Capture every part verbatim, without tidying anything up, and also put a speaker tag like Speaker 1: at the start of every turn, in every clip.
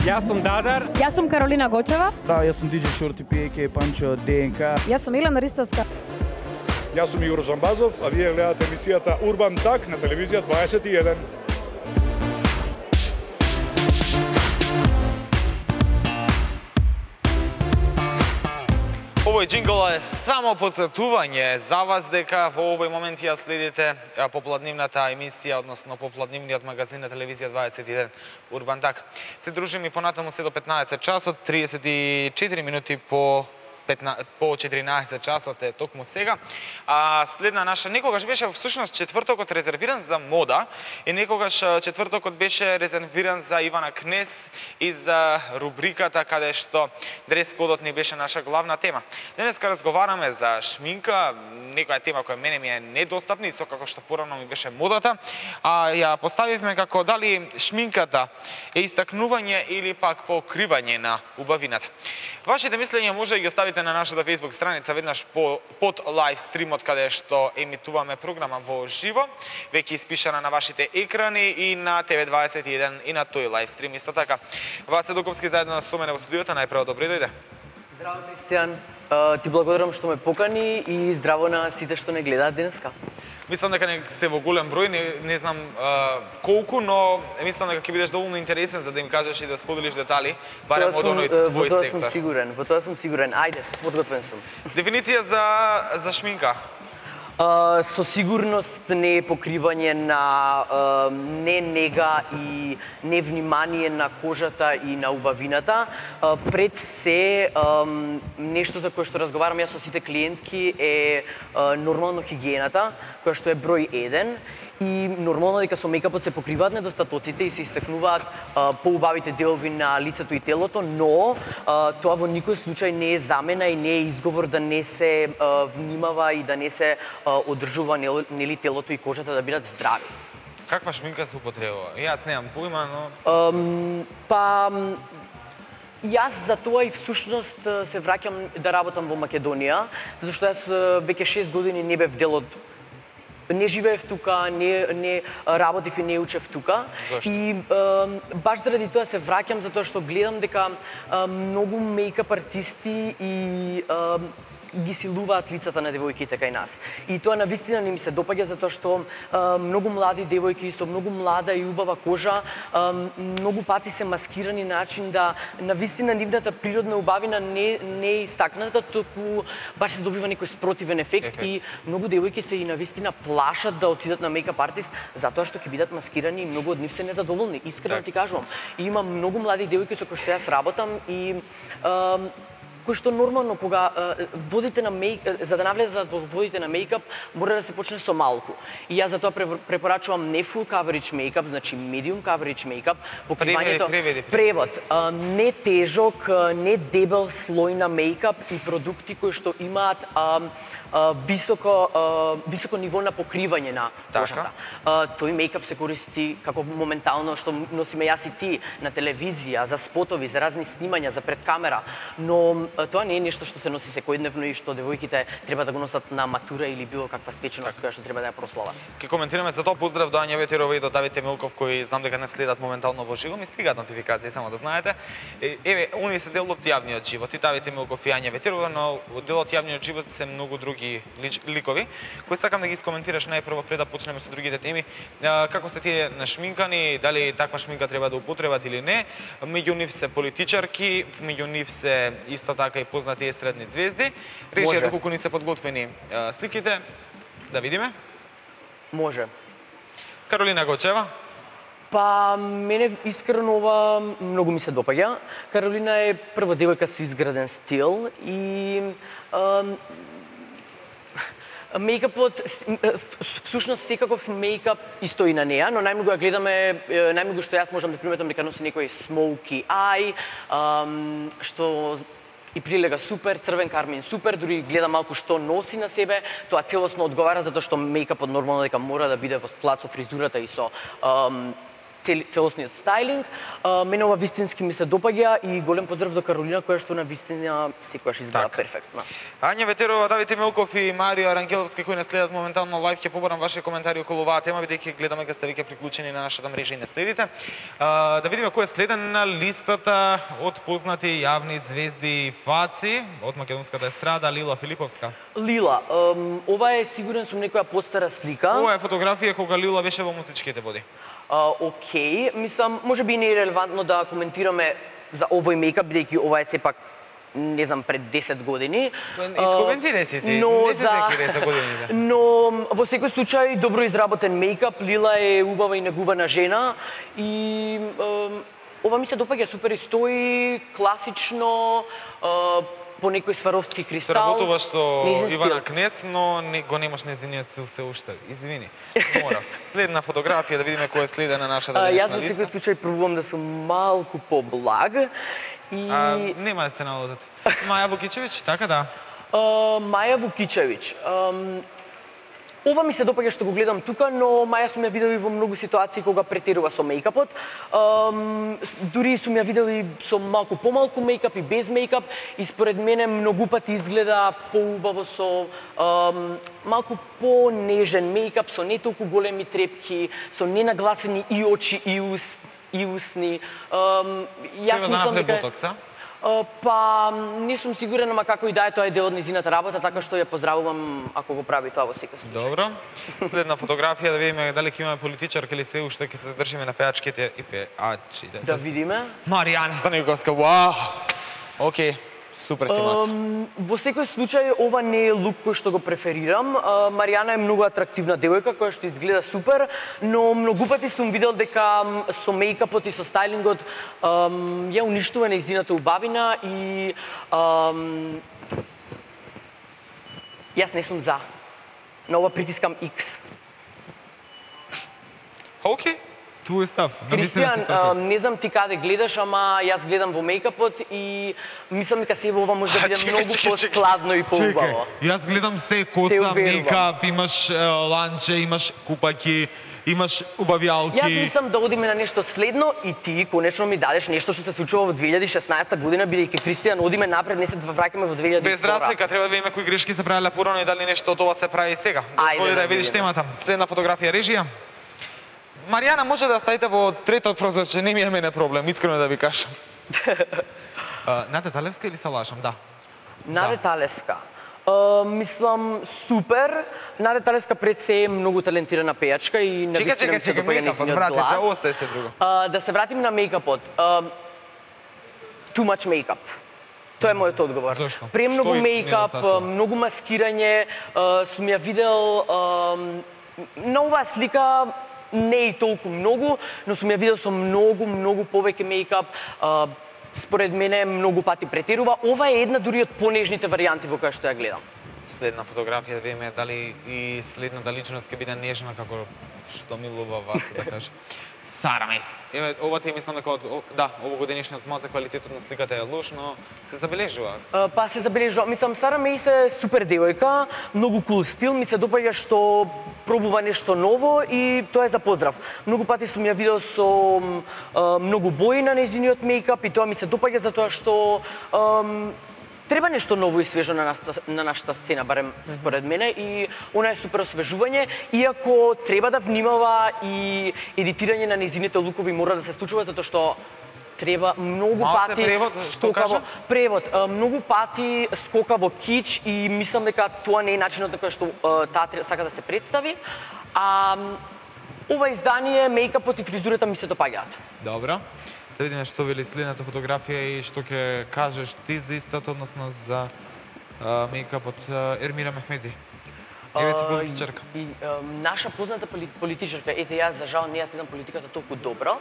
Speaker 1: Јас сум Дадар.
Speaker 2: Јас сум Каролина Гочева.
Speaker 3: Да, јас сум Ди Џеј Шорти Пи, еке Панчо Ди Ен Ка.
Speaker 2: Јас сум Илена Ристовска.
Speaker 4: Јас сум Јуро Джамбазов, а вие гледате емисијата Урбан Так на телевизија дваесет и еден.
Speaker 5: Овој џингл е само потсетување за вас дека во овој момент ја следите попладнивната емисија, односно попладнивниот магазин на телевизија дваесет и еден Урбан Так. Се дружиме понатаму се до петнаесет часот, триесет и четири минути по по четиринаесет часот е токму сега. А следна наша некогаш беше всушност четвртокот резервиран за мода и некогаш четвртокот беше резервиран за Ивана Кнез и за рубриката каде што дрес кодот не беше наша главна тема. Денеска разговараме за шминка, некоја тема која мене ми е недостапна, исто како што порано ми беше модата, а ја поставивме како дали шминката е истакнување или пак покривање на убавината. Вашите мислења може да ги оставите на нашата Facebook страница веднаш по, под лайв стримот каде што емитуваме програма во живо, веќе испишана на вашите екрани и на Т В дваесет и еден и на тој лайв стрим исто така. Васе Дуковски заедно со мене во студиото, најпрво добре дојде.
Speaker 6: Здраво, Кристијан. Ти благодарам што ме покани и здраво на сите што не гледаат денеска.
Speaker 5: Мислам дека не се во голем број, не, не знам а, колку, но мислам дека ќе бидеш доволно интересен за да им кажеш и да споделиш детали, барем од оној твој
Speaker 6: во тоа
Speaker 5: сектор.
Speaker 6: сум сигурен, во тоа сум сигурен. Ајде, подготвен сум.
Speaker 5: Дефиниција за за шминка.
Speaker 6: Uh, со сигурност не е покривање на uh, не нега и не внимание на кожата и на убавината. Uh, пред се, um, нешто за кое што разговарам јас со сите клиентки е uh, нормално хигиената, која што е број еден. И нормално дека со мејкапот се покриваат недостатоците и се истакнуваат а, поубавите делови на лицето и телото, но а, тоа во никој случај не е замена и не е изговор да не се а, внимава и да не се а, одржува нели телото и кожата да бидат здрави.
Speaker 5: Каква шминка се употребува? Јас немам поима, но
Speaker 6: Um, па Јас за тоа и всушност се враќам да работам во Македонија, затоа што јас веќе шест години не бев дел од не живеев тука, не, не работев и не учев тука.
Speaker 5: Зошто?
Speaker 6: И е, баш заради тоа се враќам затоа што гледам дека е, многу мејкап артисти и е, ги силуваат лицата на девојките кај нас. И тоа навистина не ми се допаѓа затоа што е, многу млади девојки со многу млада и убава кожа е, многу пати се маскирани начин да навистина нивната природна убавина не не е истакната, туку баш се добива некој спротивен ефект, ефект. И многу девојки се и навистина плашат да отидат на мејкап артист затоа што ќе бидат маскирани и многу од нив се незадоволни. Искрено
Speaker 5: так.
Speaker 6: Ти кажувам. И има многу млади девојки со кои што јас работам и е, кој што нормално кога е, водите на мејкап, за да навлезат во водите на мејкап, мора да се почне со малку. И јас затоа препорачувам не full coverage мејкап, значи medium coverage мејкап, покривањето
Speaker 5: преведи, преведи.
Speaker 6: превод, е, не тежок, не дебел слој на мејкап и продукти кои што имаат е, високо високо ниво на покривање на кожата. Тој мејкап се користи како моментално што носиме јас и ти на телевизија, за спотови, за разни снимања, за пред камера, но тоа не е нешто што се носи секојдневно и што девојките треба да го носат на матура или било каква свеченост која што треба да ја прослават.
Speaker 5: Ке коментираме за тоа. Поздрав до Ања Ветерова и до Давите Милков кои знам дека не следат моментално во живо, ми стигаат нотификации, само да знаете. Еве, оние се дел од јавниот живот, и Давите Милков и Ања Ветерова, но дел од јавниот живот се многу други ликови, кои сакам да ги искоментираш најпрво пред да почнеме со другите теми. Како сте тие нашминкани, дали таква шминка треба да употребат или не? Меѓу нив се политичарки, меѓу нив се исто така и познати естрадни звезди. Речете колку ни се подготвени сликите, да видиме.
Speaker 6: Може.
Speaker 5: Каролина Гочева.
Speaker 6: Па, мене искрено ова многу ми се допаѓа. Каролина е прва девојка со изграден стил и мејкапот, всушност секаков мејкап исто и на неа, но најмногу ја гледаме, најмногу што јас можам да приметам дека носи некој smoky eye, што и прилега супер, црвен кармин супер, дури гледа малку што носи на себе, тоа целосно одговара затоа што мејкапот нормално дека мора да биде во склад со фризурата и со целосниот стајлинг. Мене ова вистински ми се допаѓа и голем поздрав до Каролина, која што на вистина секогаш изгледа
Speaker 5: Так.
Speaker 6: перфектно.
Speaker 5: Ања Ветерова, Давид Емилков и Марио Арангеловски кои не следат моментално лайв, ќе побарам ваши коментари околу оваа тема, бидејќи гледаме дека сте веќе приклучени на нашата мрежа и не следите. А, да видиме кој е следен на листата од познати јавни звезди и фаци од македонската естрада, Лила Филиповска.
Speaker 6: Лила, ем, ова е сигурен сум некоја постара слика.
Speaker 5: Ова е фотографија кога Лила беше во музичките води.
Speaker 6: Uh, окей, мислам, може би не е релевантно да коментираме за овој мејкап, бидејќи ова е сепак, не знам, пред десет години.
Speaker 5: Искоментирај си ти,
Speaker 6: но
Speaker 5: не се
Speaker 6: за...
Speaker 5: секире за годините.
Speaker 6: Но во секој случај добро изработен мејкап, Лила е убава и негувана жена и ем, ова ми се допаѓа, супер и стои, класично, е, по некој сваровски кристал.
Speaker 5: Сработуваш со
Speaker 6: Нејзин стил.
Speaker 5: Ивана Кнес, но не, го немаш нејзиниот стил се уште. Извини. Морав. Следна фотографија да видиме кој е следен на нашата
Speaker 6: А,
Speaker 5: денешна
Speaker 6: Јас во
Speaker 5: листа.
Speaker 6: секој случај пробувам да сум малку поблаг и
Speaker 5: А, нема да се налудат. Маја Вукичевиќ, така да.
Speaker 6: А, Маја Вукичевиќ. Ам, Ова ми се допаѓа што го гледам тука, но Маја сум ја видела и во многу ситуации кога претерува со мејкапот. Ам, дури сум ја видела и со малку помалку мејкап и без мејкап и според мене многу пати изгледа поубаво со ам, малку понежен мејкап, со не толку големи трепки, со ненагласени и очи и, ус, и усни. Ам, јас
Speaker 5: Треба да
Speaker 6: мислам
Speaker 5: направи
Speaker 6: дека
Speaker 5: ботокс, а?
Speaker 6: Uh, па, не сум сигурена, ама како и да е, тоа е дел од незината работа, така што ја поздравувам ако го прави тоа во секој случај.
Speaker 5: Добро. Следна фотографија да видиме дали ќе имаме политичарка или се уште ќе се држиме на пеачките и пеачите.
Speaker 6: Да видиме.
Speaker 5: Маријана Станиковска, вау! Океј, супер си мац.
Speaker 6: Um, во секој случај ова не е лук кој што го преферирам. Uh, Маријана е многу атрактивна девојка која што изгледа супер, но многу пати сум видел дека м, со мејкапот и со стајлингот um, ја уништува нејзината убавина и um, јас не сум за. На ова притискам X.
Speaker 5: Океј. Твој став.
Speaker 6: Кристијан, а, не знам ти каде гледаш, ама јас гледам во мејкапот и мислам дека се ова може да биде
Speaker 5: Чекај,
Speaker 6: многу
Speaker 5: чекај,
Speaker 6: поскладно и поубаво.
Speaker 5: Јас гледам се
Speaker 6: Те
Speaker 5: коса,
Speaker 6: уверувам.
Speaker 5: мејкап, имаш е, ланче, имаш купаки, имаш убавјалки.
Speaker 6: Јас мислам да одиме на нешто следно и ти конечно ми дадеш нешто што се случува во две илјади и шеснаесета година, бидејќи Кристијан одиме напред, не се враќаме во две илјади и втора.
Speaker 5: Без разлика, треба да видиме кои грешки се правеле порано и дали нешто од ова се прави и сега.
Speaker 6: Ајде
Speaker 5: Дозволи
Speaker 6: да
Speaker 5: да ја видиш
Speaker 6: видиме.
Speaker 5: темата. Следна фотографија режија. Маријана, може да ставите во третот прозорче, не ми е мене проблем, искрено да ви кажам. А, Нате Талевска или се лажам? Да.
Speaker 6: Наде Талеска. Uh, мислам супер. Наде Талеска пред се е многу талентирана пејачка и на
Speaker 5: Чекај,
Speaker 6: вистина
Speaker 5: чекај,
Speaker 6: ми се
Speaker 5: чекај,
Speaker 6: допаѓа
Speaker 5: мејкапот,
Speaker 6: нејзиниот
Speaker 5: брате,
Speaker 6: глас.
Speaker 5: се остај се друго.
Speaker 6: Uh, да се вратиме на мејкапот. Uh, too much makeup. Тоа е мојот одговор.
Speaker 5: Зошто?
Speaker 6: Премногу
Speaker 5: Што и
Speaker 6: мејкап,
Speaker 5: недостатоцно?
Speaker 6: многу маскирање, uh, сум ја видел uh, на оваа слика не и толку многу, но сум ја видел со многу, многу повеќе мејкап. Uh, според мене многу пати претерува. Ова е една дури од понежните варијанти во која што ја гледам.
Speaker 5: Следна фотографија да видиме дали и следната личност ќе биде нежна како што милува вас, да каже. Сара Мейс. Еве, ова ти мислам дека од, о, да, овогодишниот малце квалитетот на сликата е лош, но се забележува.
Speaker 6: Uh, па се забележува. Мислам, Сара Мейс е супер девојка, многу кул стил, ми се допаѓа што пробува нешто ново и тоа е за поздрав. Многу пати сум ја видел со uh, многу бои на нејзиниот мејкап и тоа ми се допаѓа затоа што um, треба нешто ново и свежо на нашата, на нашата сцена, барем според мене, и она е супер освежување, иако треба да внимава и едитирање на нејзините лукови мора да се случува, затоа што треба многу
Speaker 5: Малце
Speaker 6: пати
Speaker 5: превод, што
Speaker 6: скокаво
Speaker 5: кажа?
Speaker 6: превод, а, многу пати скока во кич и мислам дека тоа не е начинот на кој што а, таа тре- сака да се представи. А м, ова издание, мејкапот и фризурата ми се допаѓаат.
Speaker 5: Добро. Да видиме што вели следната фотографија и што ќе кажеш ти за истото, односно за а, мејкапот а, Ермира Мехмеди. Еве ти политичарка.
Speaker 6: И, а, наша позната поли- политичарка, ете јас за жал не ја следам политиката толку добро,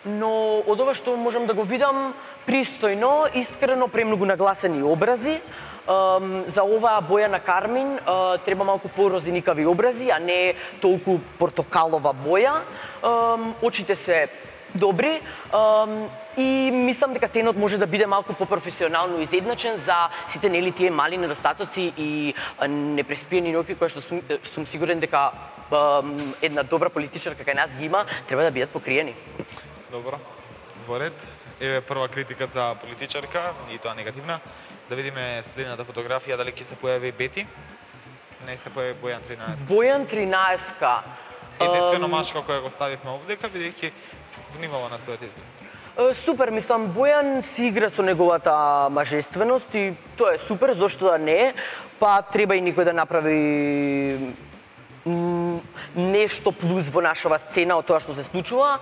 Speaker 6: но од ова што можам да го видам пристојно, искрено, премногу нагласени образи. Um, за оваа боја на кармин uh, треба малку порозеникави образи, а не толку портокалова боја. Um, очите се добри. Um, и мислам дека тенот може да биде малку попрофесионално изедначен за сите нели тие мали недостатоци и непреспиени ноќи кои што сум, сум сигурен дека um, една добра политичарка кај нас ги има, треба да бидат покриени.
Speaker 5: Добро. Во ред. Еве прва критика за политичарка и тоа негативна. Да видиме следната фотографија дали ќе се појави Бети. Не се појави Бојан тринаесет.
Speaker 6: Бојан тринаесет.
Speaker 5: Единствено машка која го ставивме овдека, бидејќи внимава на својот изглед.
Speaker 6: Супер, мислам, Бојан си игра со неговата мажественост и тоа е супер, зошто да не, па треба и никој да направи нешто плюс во нашава сцена од тоа што се случува.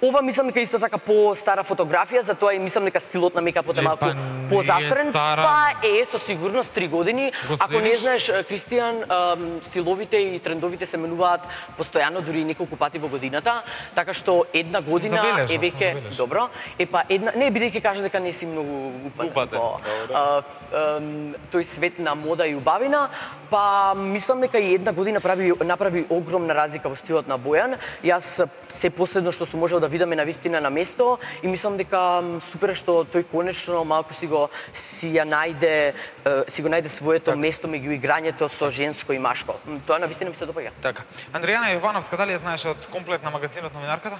Speaker 6: Ова мислам дека исто така по-стара фотографија, затоа и мислам дека стилот на мејкапот е малку позастрен. Па е, со сигурност три години. Ако не знаеш, Кристијан, стиловите и трендовите се менуваат постојано, дури неколку пати во годината, така што една година е веќе добро. Е па една, не бидејќи кажа дека не си многу упатен во тој свет на мода и убавина, па мислам дека и една година прави направи огромна разлика во стилот на Бојан. Јас се последно што сум можел да видиме на вистина на место и мислам дека супер што тој конечно малку си го си ја најде си го најде своето так. Место меѓу играњето со женско и машко. Тоа на вистина ми се допаѓа.
Speaker 5: Така. Андријана Јовановска, дали ја знаеш од комплет на магазинот Новинарката?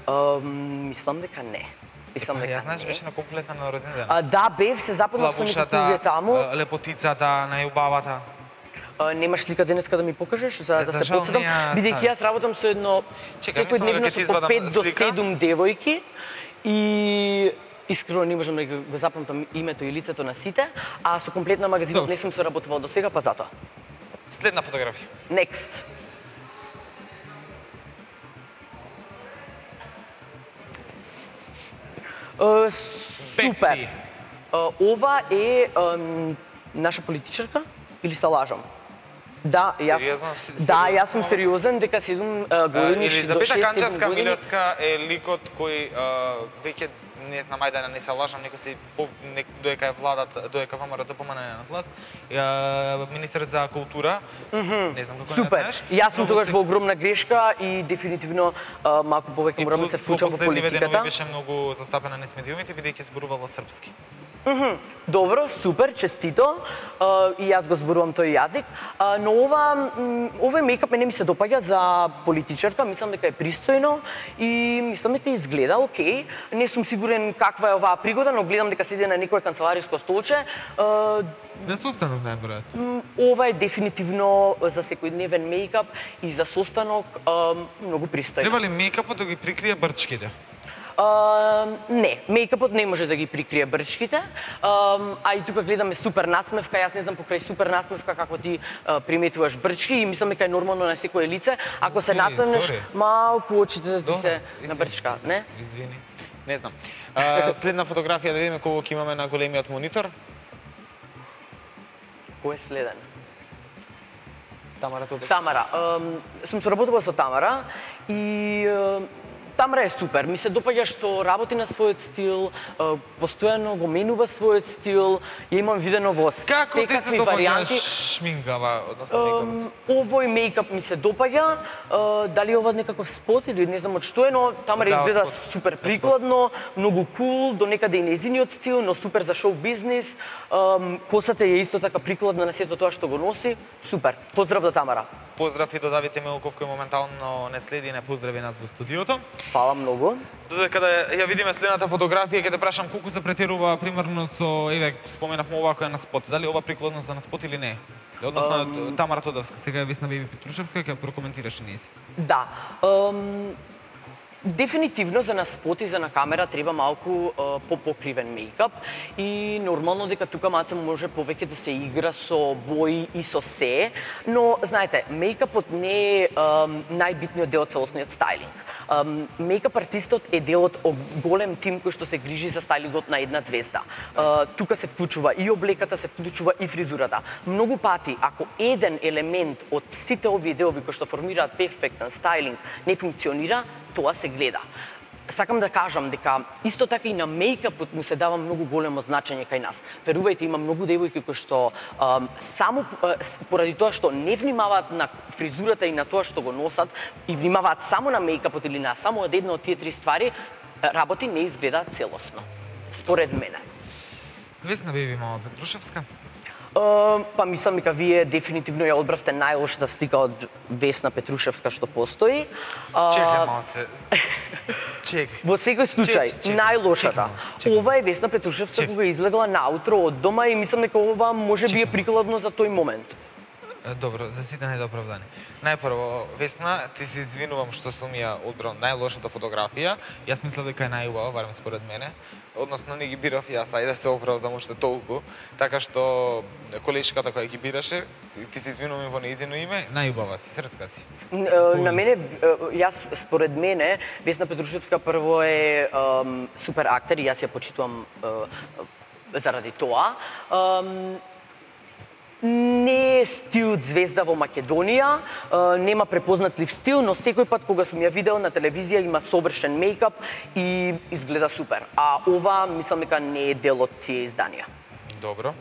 Speaker 6: Uh, мислам дека не. Мислам дека
Speaker 5: ја знаеш беше на комплета на роден ден.
Speaker 6: Uh, да, бев се запознал со некои луѓе таму.
Speaker 5: Лепотицата, најубавата.
Speaker 6: Uh, немаш слика денеска да ми покажеш за да се потсетам, бидејќи јас работам со едно секојдневно со по пет до седум девојки и искрено не можам да го запамтам името и лицето на сите, а со комплетна магазинот не сум соработувал до сега, па затоа.
Speaker 5: Следна фотографија.
Speaker 6: Next. Uh, супер. Uh, ова е uh, наша политичарка или се лажам? Да, јас да, јас сум сериозен дека седум години до шест седум
Speaker 5: Канчевска
Speaker 6: години.
Speaker 5: Милевска е ликот кој веќе не знам, ајде да не се лажам, некој се доека е владат, доека ВМРО помане на власт, министер за култура. Не знам како не знаеш.
Speaker 6: Јас сум тогаш во огромна грешка и дефинитивно малку повеќе морам да се вклучам во политиката.
Speaker 5: Беше многу застапена низ медиумите бидејќи зборувала српски.
Speaker 6: Mm-hmm. Добро, супер, честито. Uh, и јас го зборувам тој јазик. Uh, но ова, овој мејкап мене ми се допаѓа за политичарка, мислам дека е пристојно и мислам дека изгледа окей. Не сум сигурен каква е оваа пригода, но гледам дека седи на некое канцелариско столче. Uh,
Speaker 5: Не состанок најверојатно.
Speaker 6: Ова е дефинитивно за секојдневен мејкап и за состанок uh, многу пристојно.
Speaker 5: Треба ли мејкапот да ги прикрие брчките?
Speaker 6: Uh, не, мејкапот не може да ги прикрие брчките, uh, а и тука гледаме супер насмевка, јас не знам покрај супер насмевка како ти uh, приметуваш брчки и мислам дека е нормално на секое лице, ако се насмевнеш малку очите да ти се набрчка, не?
Speaker 5: Извини, не знам. Uh, следна фотографија да видиме кого ќе имаме на големиот монитор.
Speaker 6: Кој е следен?
Speaker 5: Тамара Тодорска.
Speaker 6: Тамара, uh, сум соработувала со Тамара и uh, Тамара е супер. Ми се допаѓа што работи на својот стил, постојано го менува својот стил. Ја имам видено во секакви варијанти. Како ти се допаѓа
Speaker 5: шминкава, односно мејкапот?
Speaker 6: Овој мејкап ми се допаѓа. Дали ова некаков спот или не знам од што е, но Тамара изгледа супер прикладно, многу кул, до некаде и нејзиниот стил, но супер за шоу бизнис. Косата е исто така прикладна на сето тоа што го носи. Супер. Поздрав до Тамара.
Speaker 5: Поздрав и до Давите Мелков кој моментално не следи и не поздрави нас во студиото.
Speaker 6: Фала многу.
Speaker 5: Додека да ја видиме следната фотографија, ќе те прашам колку се претерува примерно со, еве, споменавме ова која е на спот. Дали ова прикладно за на спот или не? Односно um, Тамара Тодорска, сега е Весна Беби Петрушевска, ќе прокоментираш нејзи.
Speaker 6: Да. Um... Дефинитивно за на спот и за на камера треба малку uh, попокривен мејкап и нормално дека тука малце може повеќе да се игра со бои и со се, но знаете, мејкапот не е um, најбитниот дел од целосниот стајлинг. Um, мејкап артистот е дел од голем тим кој што се грижи за стајлингот на една звезда. Uh, тука се вклучува и облеката, се вклучува и фризурата. Многу пати, ако еден елемент од сите овие делови кои што формираат перфектен стајлинг не функционира, тоа се гледа. сакам да кажам дека исто така и на мејкапот му се дава многу големо значење кај нас. Верувајте, има многу девојки кои што а, само а, поради тоа што не внимаваат на фризурата и на тоа што го носат и внимаваат само на мејкапот или на само една од тие три ствари, работи не изгледаат целосно. Според мене.
Speaker 5: Весна Беби Мама Петрушевска.
Speaker 6: Uh, па мислам дека вие дефинитивно ја одбравте најлошата слика од Весна Петрушевска што постои. Uh,
Speaker 5: Чекај малце. Чекај.
Speaker 6: Во секој случај,
Speaker 5: Чекай, чекай,
Speaker 6: најлошата.
Speaker 5: чекай,
Speaker 6: Ова е Весна Петрушевска кога излегла наутро од дома и мислам дека ова може би е прикладно за тој момент.
Speaker 5: Добро, за сите недооправдани. Најпрво, Весна, ти се извинувам што сум ја одбрал најлошата фотографија. Јас мислев дека е најубава, барем според мене. Односно не ги бирав јас, ајде се оправдам уште толку. Така што колешката која ги бираше, ти се извинувам во нејзино име, најубава си, срцка си.
Speaker 6: На мене, јас според мене, Весна Петрушевска прво е um, супер актер и јас ја почитувам uh, заради тоа. Um, Не е стил звезда во Македонија, нема препознатлив стил, но секој пат кога сум ја видел на телевизија има совршен мејкап и изгледа супер. А ова мислам дека не е дел од тие изданија.
Speaker 5: Добро.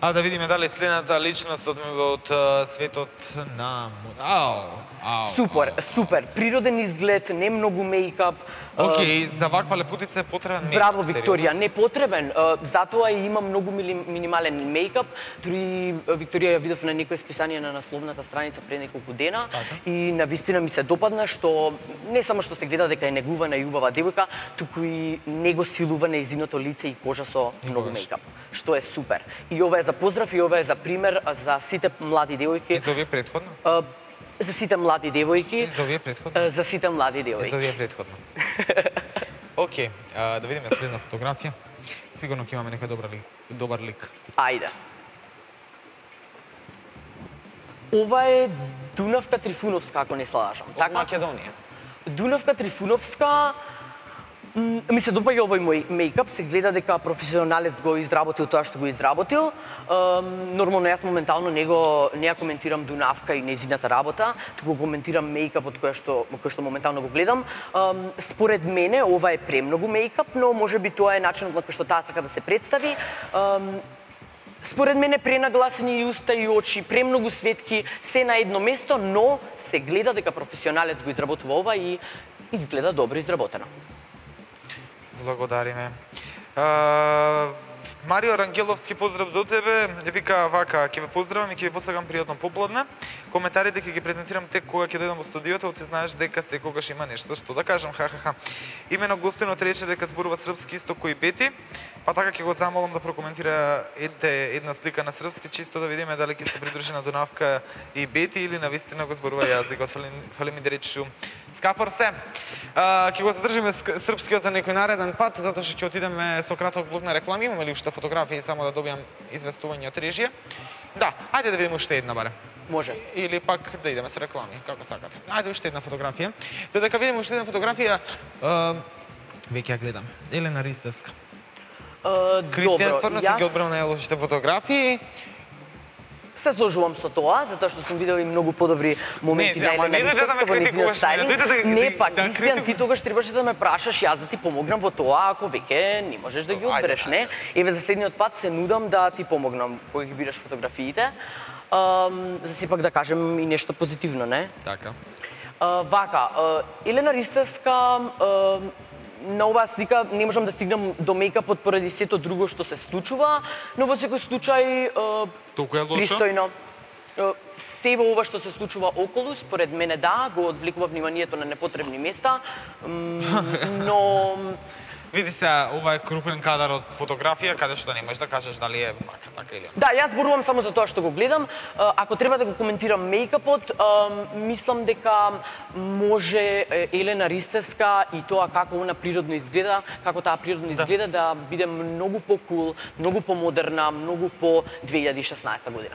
Speaker 5: А да видиме дали следната личност од, од светот на... Ау, ау,
Speaker 6: Супер,
Speaker 5: ау,
Speaker 6: супер. Природен изглед, не многу мејкап.
Speaker 5: Океј, за ваква лепутица е потребен мејкап.
Speaker 6: Браво, Викторија, не потребен. Затоа и има многу минимален мејкап. Дури Викторија ја видов на некој списание на насловната страница пред неколку дена и навистина ми се допадна што не само што се гледа дека е негувана и убава девојка, туку и него силува нејзиното лице и кожа со многу мејкап, што е супер. И ова е за поздрав и ова е за пример за сите млади девојки.
Speaker 5: И за овие предходно?
Speaker 6: За сите млади девојки.
Speaker 5: И за овие предходно?
Speaker 6: За сите млади девојки.
Speaker 5: И за овие предходно. Океј, okay, да видиме следна фотографија. Сигурно ќе имаме некој добар лик. Добар лик.
Speaker 6: Ајде. Ова е Дунавка Трифуновска, ако не се лажам.
Speaker 5: Од Македонија.
Speaker 6: Дунавка Трифуновска, ми се допаѓа овој мој мејкап, се гледа дека професионалец го изработил тоа што го изработил. Нормално јас моментално не го не ја коментирам Дунавка и нејзината работа, туку коментирам мејкапот кој што кој што моментално го гледам. Според мене ова е премногу мејкап, но можеби тоа е начинот на кој што таа сака да се представи. Според мене пренагласени и уста и очи, премногу светки, се на едно место, но се гледа дека професионалец го изработува ова и изгледа добро изработено.
Speaker 5: Благодариме. А, Марио Рангеловски, поздрав до тебе. Вика вака, ќе ве поздравам и ќе ви посакам пријатно попладне. Коментарите ќе ги презентирам тек кога ќе дојдам во студиото, ти знаеш дека секогаш има нешто што да кажам, ха-ха-ха. Имено гостинот рече дека зборува српски исто кој Бети, па така ќе го замолам да прокоментира едте, една слика на српски, чисто да видиме дали ќе се придружи на Дунавка и Бети или навистина го зборува јазикот. Фали, фали ми да речу. Скапор се. А, ќе го задржиме српскиот за некој нареден пат, затоа што ќе отидеме со краток блок на реклами. Имаме ли уште фотографии само да добијам известување од режија? Да, ајде да видиме уште една баре.
Speaker 6: Може.
Speaker 5: Или пак да идеме со реклами, како сакате. Ајде уште една фотографија. Додека видиме уште една фотографија, uh, веќе ја гледам. Елена Ристевска.
Speaker 6: Uh,
Speaker 5: Кристијан стварно си ги одбрал најлошите фотографии.
Speaker 6: Се сложувам со тоа, затоа што сум видел и многу подобри моменти на Елена Ристевска во нејзиниот стајлинг. Не, пак, Кристијан, ти тогаш требаше да ме прашаш јас да ти помогнам во тоа, ако веќе не можеш да ги одбереш, не? Еве, за следниот пат се нудам да ти помогнам кога ги бираш фотографиите. За сепак да кажем и нешто позитивно, не?
Speaker 5: Така.
Speaker 6: Вака, Елена Ристевска, на оваа слика не можам да стигнам до мејкапот поради сето друго што се случува, но во секој случај
Speaker 5: толку е лошо.
Speaker 6: Пристојно. Се во ова што се случува околу, според мене да, го одвлекува вниманието на непотребни места, но
Speaker 5: види се, ова е крупен кадар од фотографија, каде што не можеш да кажеш дали е вака, така или.
Speaker 6: Да, јас зборувам само за тоа што го гледам. Ако треба да го коментирам мејкапот, мислам дека може Елена Ристевска и тоа како она природно изгледа, како таа природно изгледа да биде многу по-кул, многу по-модерна, многу по две илјади и шеснаесета година.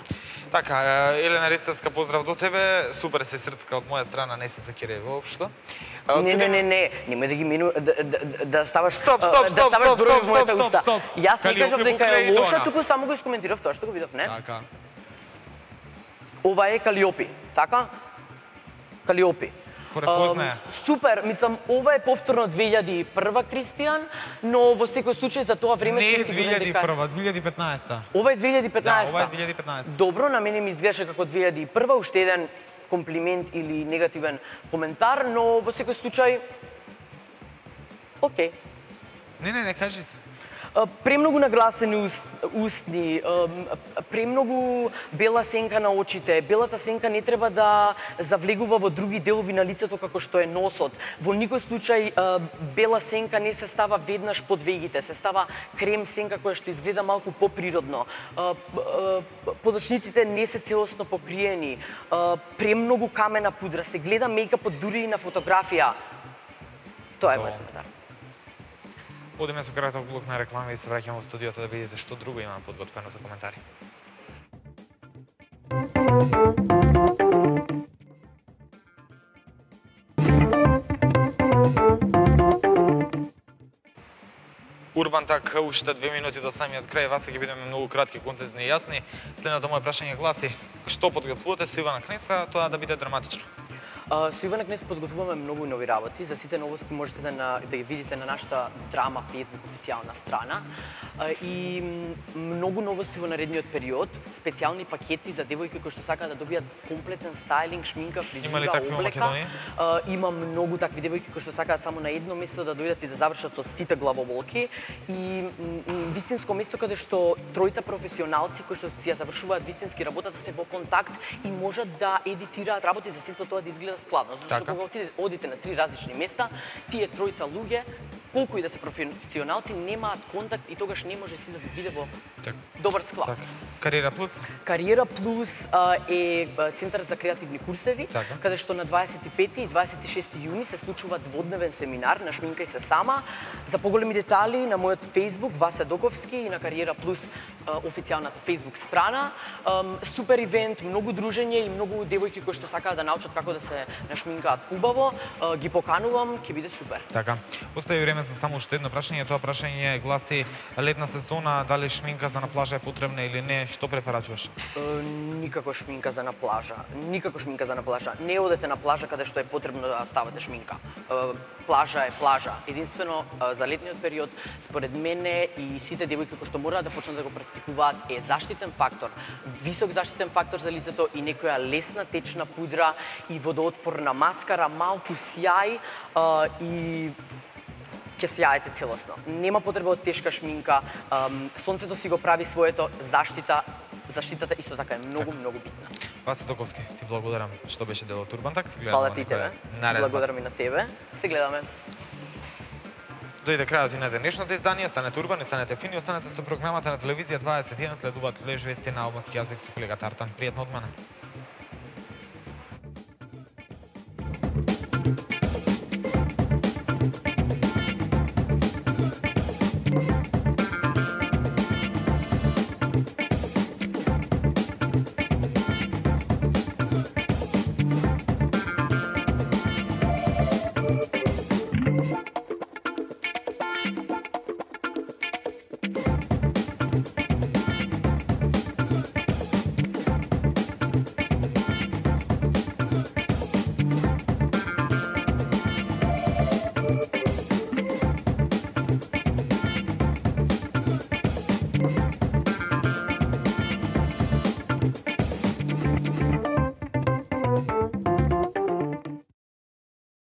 Speaker 5: Така, Елена Ристевска, поздрав до тебе. Супер се срцка од моја страна, не се закире воопшто.
Speaker 6: Не, не, не, не, немој да ги мену да, да, да ставаш
Speaker 5: Стоп, стоп,
Speaker 6: да
Speaker 5: стоп,
Speaker 6: ставаш
Speaker 5: стоп,
Speaker 6: број
Speaker 5: стоп,
Speaker 6: во мојата
Speaker 5: стоп,
Speaker 6: уста.
Speaker 5: стоп.
Speaker 6: Јас не кажав дека е лоша, туку само го искоментирав тоа што го видов, не?
Speaker 5: Така.
Speaker 6: Ова е Калиопи, така? Калиопи.
Speaker 5: Препознаја.
Speaker 6: Супер, мислам, ова е повторно две илјади и прва, Кристијан, но во секој случај за тоа време
Speaker 5: Не е
Speaker 6: сум
Speaker 5: две
Speaker 6: сигурна
Speaker 5: илјади и
Speaker 6: дека...
Speaker 5: прва, две илјади и петнаесета.
Speaker 6: Ова е две илјади и петнаесета?
Speaker 5: Да, ова е две илјади и петнаесета.
Speaker 6: Добро, на мене ми изгледаше како две илјади и прва, уште еден комплимент или негативен коментар, но во секој случај... Океј.
Speaker 5: Не, не, не, кажи се.
Speaker 6: Премногу нагласени ус, устни, премногу бела сенка на очите. Белата сенка не треба да завлегува во други делови на лицето како што е носот. Во никој случај бела сенка не се става веднаш под вегите, се става крем сенка која што изгледа малку поприродно. Подочниците не се целосно покриени. Премногу камена пудра, се гледа мејкапот дури и на фотографија. Тоа е мојот коментар.
Speaker 5: Одиме со краток блок на реклама и се враќаме во студиото да видите што друго имаме подготвено за коментари. Урбан Так, уште две минути до самиот крај, вас ќе бидеме многу кратки, концизни и јасни. Следното моје прашање гласи: што подготвувате со Ивана Кнеса, тоа да биде драматично?
Speaker 6: Со Ивана Кнес подготвуваме многу нови работи. За сите новости можете да, на, да ги видите на нашата драма Facebook официјална страна. И многу новости во наредниот период, специјални пакети за девојки кои што сакаат да добијат комплетен стајлинг, шминка, фризура,
Speaker 5: Има ли такви во
Speaker 6: облека.
Speaker 5: Македонија?
Speaker 6: Има многу такви девојки кои што сакаат само на едно место да дојдат и да завршат со сите главоболки. И вистинско место каде што тројца професионалци кои што си ја завршуваат вистински работата се во контакт и можат да едитираат работи за сето тоа да изгледа складно. Затоа што кога одите на три различни места, тие тројца луѓе, колку и да се професионалци, немаат контакт и тогаш не може си да биде во
Speaker 5: так.
Speaker 6: добар склад.
Speaker 5: Так. Кариера Плюс?
Speaker 6: Кариера Плюс а, е центар за креативни курсеви,
Speaker 5: така.
Speaker 6: Каде што на дваесет и пети и дваесет и шести јуни се случува дводневен семинар на Шминкај се сама. За поголеми детали на мојот Facebook Васе Доковски и на Кариера Плюс а, официјалната Facebook страна. А, супер ивент, многу дружење и многу девојки кои што сакаат да научат како да се нашминкаат убаво. А, ги поканувам, ќе биде супер.
Speaker 5: Така. Остави време за само уште едно прашање. Тоа прашање гласи: летна сезона, дали шминка за на плажа е потребна или не? Што препорачуваш?
Speaker 6: Е, никако шминка за на плажа. Никако шминка за на плажа. Не одете на плажа каде што е потребно да ставате шминка. Е, плажа е плажа. Единствено е, за летниот период, според мене и сите девојки кои што мораат да почнат да го практикуваат е заштитен фактор, висок заштитен фактор за лицето и некоја лесна течна пудра и водоотпорна маскара, малку сјај е, и ќе сјаете целосно. Нема потреба од тешка шминка, сонцето си го прави своето, заштита, заштитата исто така е многу, многу битна.
Speaker 5: Васе Доковски, ти благодарам што беше дел од Урбан Так. Се гледаме.
Speaker 6: Фала ти тебе. Благодарам и на тебе. Се гледаме.
Speaker 5: Дојде крајот и на денешното издание. Станете урбани, станете фини, останете со програмата на телевизија дваесет и еден, следуваат леш вести на албански јазик со колегата Артан. Пријатно од мене.